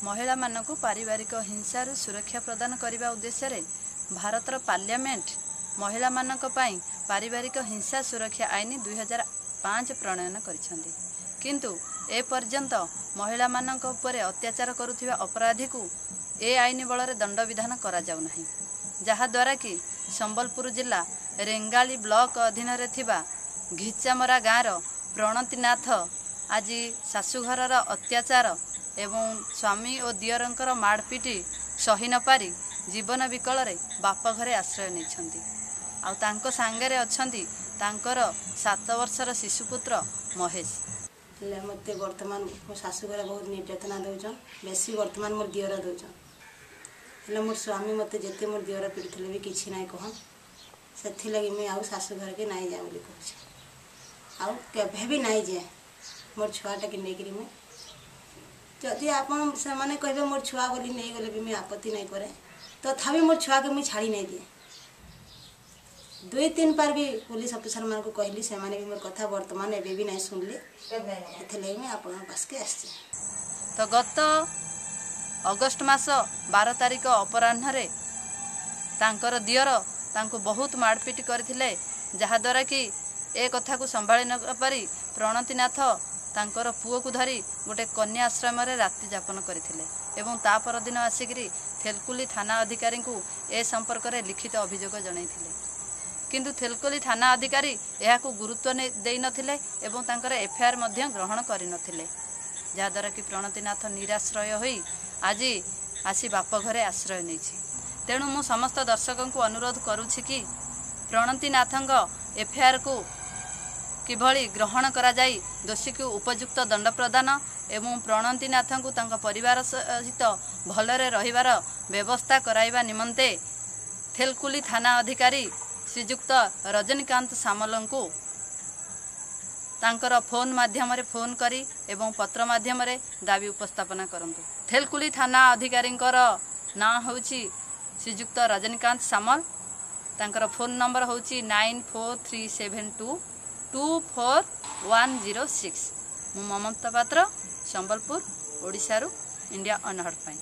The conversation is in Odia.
ମହିଳାମାନଙ୍କୁ ପାରିବାରିକ ହିଂସାରୁ ସୁରକ୍ଷା ପ୍ରଦାନ କରିବା ଉଦ୍ଦେଶ୍ୟରେ ଭାରତର ପାର୍ଲାମେଣ୍ଟ ମହିଳାମାନଙ୍କ ପାଇଁ ପାରିବାରିକ ହିଂସା ସୁରକ୍ଷା ଆଇନ 2005 ପ୍ରଣୟନ କରିଛନ୍ତି। କିନ୍ତୁ ଏପର୍ଯ୍ୟନ୍ତ ମହିଳାମାନଙ୍କ ଉପରେ ଅତ୍ୟାଚାର କରୁଥିବା ଅପରାଧୀକୁ ଏ ଆଇନ ବଳରେ ଦଣ୍ଡବିଧାନ କରାଯାଉନାହିଁ, ଯାହାଦ୍ୱାରା କି ସମ୍ବଲପୁର ଜିଲ୍ଲା ରେଙ୍ଗାଳି ବ୍ଲକ ଅଧୀନରେ ଥିବା ଘିଚାମରା ଗାଁର ପ୍ରଣତିନାଥ ଆଜି ଶାଶୁଘରର ଅତ୍ୟାଚାର ଏବଂ ସ୍ୱାମୀ ଓ ଦିଅରଙ୍କର ମାଡ଼ପିଟି ସହି ନପାରି ଜୀବନ ବିକଳରେ ବାପ ଘରେ ଆଶ୍ରୟ ନେଇଛନ୍ତି। ଆଉ ତାଙ୍କ ସାଙ୍ଗରେ ଅଛନ୍ତି ତାଙ୍କର 7 ବର୍ଷର ଶିଶୁପୁତ୍ର ମହେଶ। ହେଲେ ମୋତେ ବର୍ତ୍ତମାନ ମୋ ଶାଶୁଘରେ ବହୁତ ନିର୍ଯାତନା ଦେଉଛନ୍, ବେଶୀ ବର୍ତ୍ତମାନ ମୋର ଦିଅର ଦେଉଛନ୍। ହେଲେ ମୋର ସ୍ୱାମୀ ମୋତେ ଯେତେ ମୋର ଦିଅର ପିଟୁଥିଲେ ବି କିଛି ନାଇଁ କହନ୍। ସେଥିଲାଗି ମୁଇଁ ଆଉ ଶାଶୁଘରକେ ନାଇଁ ଯାଏ ବୋଲି କହୁଛେ, ଆଉ କେବେ ବି ନାଇଁ ଯାଏ ମୋର ଛୁଆଟାକେ ନେଇକିରି। ମୁଇଁ ଯଦି ଆପଣ ସେମାନେ କହିବେ ମୋର ଛୁଆ ବୋଲି ନେଇଗଲେ ବି ମୁଇଁ ଆପତ୍ତି ନାଇଁ କରେ, ତଥାପି ମୋର ଛୁଆକେ ମୁଇଁ ଛାଡ଼ି ନାଇଁ ଦିଏ। 2-3 ପାର ବି ପୋଲିସ ଅଫିସରମାନଙ୍କୁ କହିଲି, ସେମାନେ ବି ମୋର କଥା ବର୍ତ୍ତମାନ ଏବେ ବି ନାଇଁ ଶୁଣିଲେ। ସେଥିଲାଗି ମୁଇଁ ଆପଣଙ୍କ ପାଶକେ ଆସିଛି। ତ ଗତ ଅଗଷ୍ଟ ମାସ 12 ତାରିଖ ଅପରାହ୍ନରେ ତାଙ୍କର ଦିଅର ତାଙ୍କୁ ବହୁତ ମାଡ଼ପିଟ କରିଥିଲେ, ଯାହାଦ୍ୱାରା କି ଏ କଥାକୁ ସମ୍ଭାଳି ନପାରି ପ୍ରଣତିନାଥ ତାଙ୍କର ପୁଅକୁ ଧରି ଗୋଟେ କନ୍ୟା ଆଶ୍ରମରେ ରାତି ଯାପନ କରିଥିଲେ ଏବଂ ତା ପରଦିନ ଆସିକରି ଥେଲକୁଲି ଥାନା ଅଧିକାରୀଙ୍କୁ ଏ ସମ୍ପର୍କରେ ଲିଖିତ ଅଭିଯୋଗ ଜଣାଇଥିଲେ। କିନ୍ତୁ ଥେଲକୁଲି ଥାନା ଅଧିକାରୀ ଏହାକୁ ଗୁରୁତ୍ୱ ଦେଇନଥିଲେ ଏବଂ ତାଙ୍କର ଏଫଆଇଆର୍ ମଧ୍ୟ ଗ୍ରହଣ କରିନଥିଲେ, ଯାହାଦ୍ୱାରା କି ପ୍ରଣତିନାଥ ନିରାଶ୍ରୟ ହୋଇ ଆଜି ଆସି ବାପ ଘରେ ଆଶ୍ରୟ ନେଇଛି। ତେଣୁ ମୁଁ ସମସ୍ତ ଦର୍ଶକଙ୍କୁ ଅନୁରୋଧ କରୁଛି କି ପ୍ରଣତିନାଥଙ୍କ ଏଫଆଇଆର୍କୁ କିଭଳି ଗ୍ରହଣ କରାଯାଇ ଦୋଷୀକୁ ଉପଯୁକ୍ତ ଦଣ୍ଡ ପ୍ରଦାନ ଏବଂ ପ୍ରଣତିନାଥଙ୍କୁ ତାଙ୍କ ପରିବାର ସହିତ ଭଲରେ ରହିବାର ବ୍ୟବସ୍ଥା କରାଇବା ନିମନ୍ତେ ଥେଲକୁଲି ଥାନା ଅଧିକାରୀ ଶ୍ରୀଯୁକ୍ତ ରଜନୀକାନ୍ତ ସାମଲଙ୍କୁ ତାଙ୍କର ଫୋନ୍ ମାଧ୍ୟମରେ ଫୋନ୍ କରି ଏବଂ ପତ୍ର ମାଧ୍ୟମରେ ଦାବି ଉପସ୍ଥାପନା କରନ୍ତୁ। ଥେଲକୁଲି ଥାନା ଅଧିକାରୀଙ୍କର ନାଁ ହେଉଛି ଶ୍ରୀଯୁକ୍ତ ରଜନୀକାନ୍ତ ସାମଲ। ତାଙ୍କର ଫୋନ୍ ନମ୍ବର ହେଉଛି 9437224106। ମୁଁ ମମତା ପାତ୍ର, ସମ୍ବଲପୁର, ଓଡ଼ିଶାରୁ ଇଣ୍ଡିଆ ଅନହର୍ଡ ପାଇଁ।